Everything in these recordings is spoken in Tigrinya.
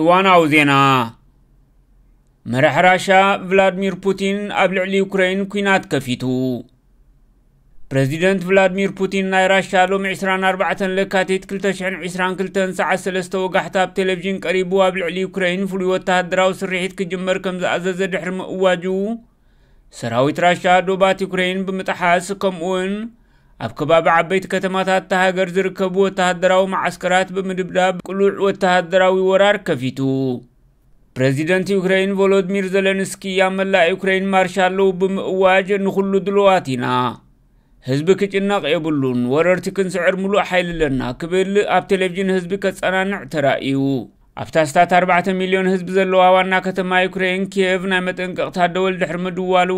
እዋናዊ ዜና። መራሕ ራሻ ቭላድሚር ፑቲን ኣብ ልዕሊ ዩክሬን ኲናት ከፊቱ። ፕረዚደንት ቭላድሚር ፑቲን ናይ ራሻ ሎሚ ዕስራን ኣርባዕተን ለካቲት ክልተ ሽሕን ዕስራን ክልተን ሰዓት ሰለስተ ወጋሕታ ኣብ ቴሌቪዥን ቀሪቡ ኣብ ልዕሊ ዩክሬን ፍሉይ ወተሃደራዊ ስርሒት ክጅመር ከም ዝኣዘዘ ድሕሪ ምእዋጁ፣ ሰራዊት ራሻ ዶባት ዩክሬን ብምጥሓስ፣ ከምኡውን ኣብ ከባቢ ዓበይቲ ከተማታት እታ ሃገር ዝርከቡ ወተሃደራዊ መዓስከራት ብምድብዳብ ቅሉዕ ወተሃደራዊ ወራር ከፊቱ። ፕረዚደንት ዩክሬን ቮሎድሚር ዘለንስኪ ኣብ መላእ ዩክሬን ማርሻ ኣለዉ ብምእዋጅ፣ ንኹሉ ድሉዋት ኢና፣ ህዝቢ ክጭነቕ የብሉን፣ ወረርቲ ክንስዕር ሙሉእ ሓይሊ ኣለና ክብል ኣብ ቴሌቪዥን ህዝቢ ከጸናንዕ ተራእዩ። ኣብታ ስታት ኣርባዕተ ሚልዮን ህዝቢ ዘለዋ ዋና ከተማ ዩክሬን ኪየቭ ናይ መጠንቀቕታ ደወል ድሕሪ ምድዋሉ፣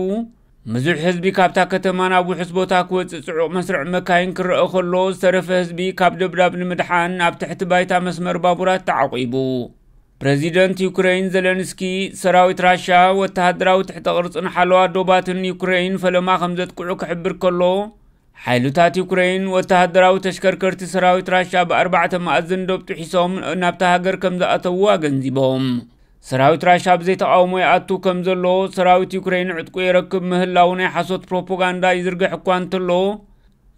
ብዙሕ ህዝቢ ካብታ ከተማ ናብ ውሑስ ቦታ ክወጽእ ጽዑቕ መስርዕ መካይን ክረአ ከሎ፣ ዝተረፈ ህዝቢ ካብ ደብዳብ ንምድሓን ኣብ ትሕቲ ባይታ መስመር ባቡራት ተዓቂቡ። ፕረዚደንት ዩክሬን ዘለንስኪ፣ ሰራዊት ራሻ ወተሃደራዊ ትሕተ ቅርጽን ሓለዋ ዶባትን ዩክሬን ፈለማ ከም ዘጥቅዑ ክሕብር ከሎ፣ ሓይልታት ዩክሬን ወተሃደራዊ ተሽከርከርቲ ሰራዊት ራሻ ብኣርባዕተ መኣዝን ዶብ ጥሒሶም ናብታ ሃገር ከም ዝኣተዉ ኣገንዚቦም። ሰራዊት ራሻ ብዘይ ተቓውሞ ይኣቱ ከም ዘሎ፣ ሰራዊት ዩክሬን ዕጥቁ የረክብ ምህላው ናይ ሓሶት ፕሮፓጋንዳ ይዝርግሕ እኳ እንተሎ፣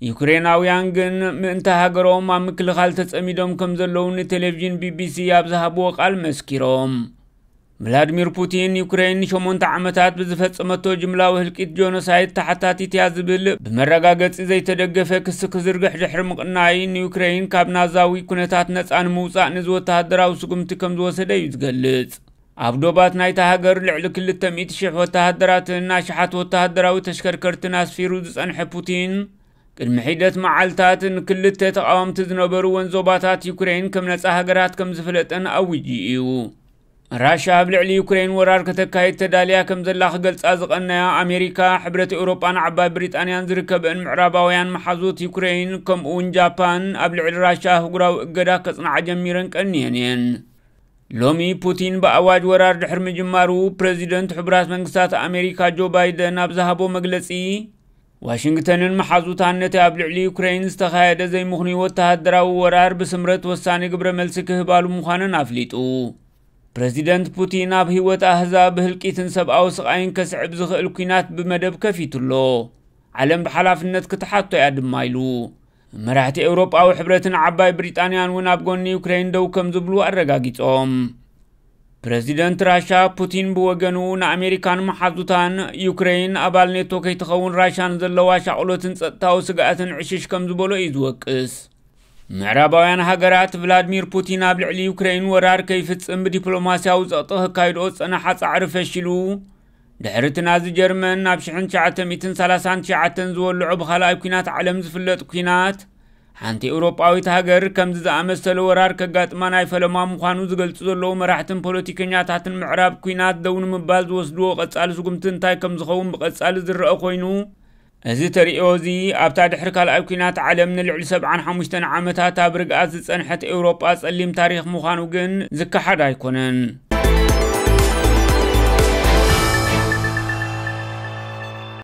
ዩክሬናውያን ግን ምእንተ ሃገሮም ኣብ ምክልኻል ተጸሚዶም ከም ዘለዉ ንቴሌቪዥን ቢቢሲ ኣብ ዝሃብዎ ቃል መስኪሮም። ቭላድሚር ፑቲን፣ ዩክሬን ንሸሞንተ ዓመታት ብዝፈጸመቶ ጅምላዊ ህልቂት ጆኖሳይድ ተሓታቲት እያ ዝብል ብመረጋገጺ ዘይተደገፈ ክሲ ክዝርግሕ ድሕሪ ምቕናይ፣ ንዩክሬን ካብ ናዛዊ ኩነታት ነጻ ንምውጻእ ነዚ ወተሃደራዊ ስጉምቲ ከም ዝወሰደ እዩ ዝገልጽ። ኣብ ዶባት ናይታ ሃገር ልዕሊ ክልተ ሚእቲ ሽሕ ወተሃደራትን ኣሽሓት ወተሃደራዊ ተሽከርከርትን ኣስፊሩ ዝጸንሐ ፑቲን፣ ቅድሚ ሒደት መዓልታት ንክልተ ተቓወምቲ ዝነበርወን ዞባታት ዩክሬን ከም ነጻ ሃገራት ከም ዝፈለጠን ኣዊጁ እዩ። ራሻ ኣብ ልዕሊ ዩክሬን ወራር ከተካይድ ተዳልያ ከም ዘላ ክገልጻ ዝቐነያ ኣሜሪካ፣ ሕብረት ኤውሮጳን ዓባይ ብሪጣንያን ዝርከበን ምዕራባውያን መሓዙት ዩክሬን፣ ከምኡ እውን ጃፓን ኣብ ልዕሊ ራሻ ኣህጉራዊ እገዳ ከጽንዓ ጀሚረን ቀንየን እየን። ሎሚ ፑቲን ብኣዋጅ ወራር ድሕሪ ምጅማሩ፣ ፕረዚደንት ሕቡራት መንግስታት ኣሜሪካ ጆ ባይደን ኣብ ዝሃቦ መግለጺ፣ ዋሽንግተንን መሓዙታን ነቲ ኣብ ልዕሊ ዩክሬን ዝተኻየደ ዘይምኽኑይ ወተሃደራዊ ወራር ብስምረት ወሳኒ ግብረ መልሲ ክህባሉ ምዃነን ኣፍሊጡ። ፕረዚደንት ፑቲን ኣብ ህይወት ኣህዛብ ህልቂትን ሰብኣዊ ስቓይን ከስዕብ ዝኽእል ኲናት ብመደብ ከፊቱ ኣሎ። ዓለም ብሓላፍነት ክትሓቶ እያ ድማ ኢሉ። መራሕቲ ኤውሮጳዊ ሕብረትን ዓባይ ብሪጣንያን እውን ኣብ ጎኒ ዩክሬን ደው ከም ዝብሉ ኣረጋጊጾም። ፕረዚደንት ራሻ ፑቲን ብወገኑ ንኣሜሪካን መሓዙታን ዩክሬን ኣባል ኔቶ ከይትኸውን ራሻ ንዘለዋ ሻቕሎትን ጸጥታዊ ስግኣትን ዕሽሽ ከም ዝበሎ እዩ ዝወቅስ። ምዕራባውያን ሃገራት ቭላድሚር ፑቲን ኣብ ልዕሊ ዩክሬን ወራር ከይፍጽም ብዲፕሎማስያዊ ጸቕጢ ከካይድኦ ዝጸናሓ ጻዕሪ ፈሺሉ፣ ድሕሪ እቲ ናዚ ጀርመን ናብ ሽሕን ትሽዓተ ሚእትን ሰላሳን ትሽዓተን ዝወልዖ ብኻልኣይ ኲናት ዓለም ዝፍለጥ ኲናት፣ ሓንቲ ኤውሮጳዊት ሃገር ከምዚ ዝኣመሰለ ወራር ከጋጥማ ናይ ፈለማ ምዃኑ ዝገልጹ ዘለዉ መራሕትን ፖለቲከኛታትን ምዕራብ፣ ኲናት ደው ንምባል ዝወስድዎ ቀጻሊ ስጉምቲ እንታይ ከም ዝኸውን ብቐጻሊ ዝረአ ኮይኑ፣ እዚ ተርእዮ እዚ ኣብታ ድሕሪ ካልኣይ ኲናት ዓለም ንልዕሊ ሰብዓን ሓሙሽተን ዓመታት ኣብ ርግኣት ዝጸንሐት ኤውሮጳ ጸሊም ታሪኽ ምዃኑ ግን ዝከሓድ ኣይኮነን።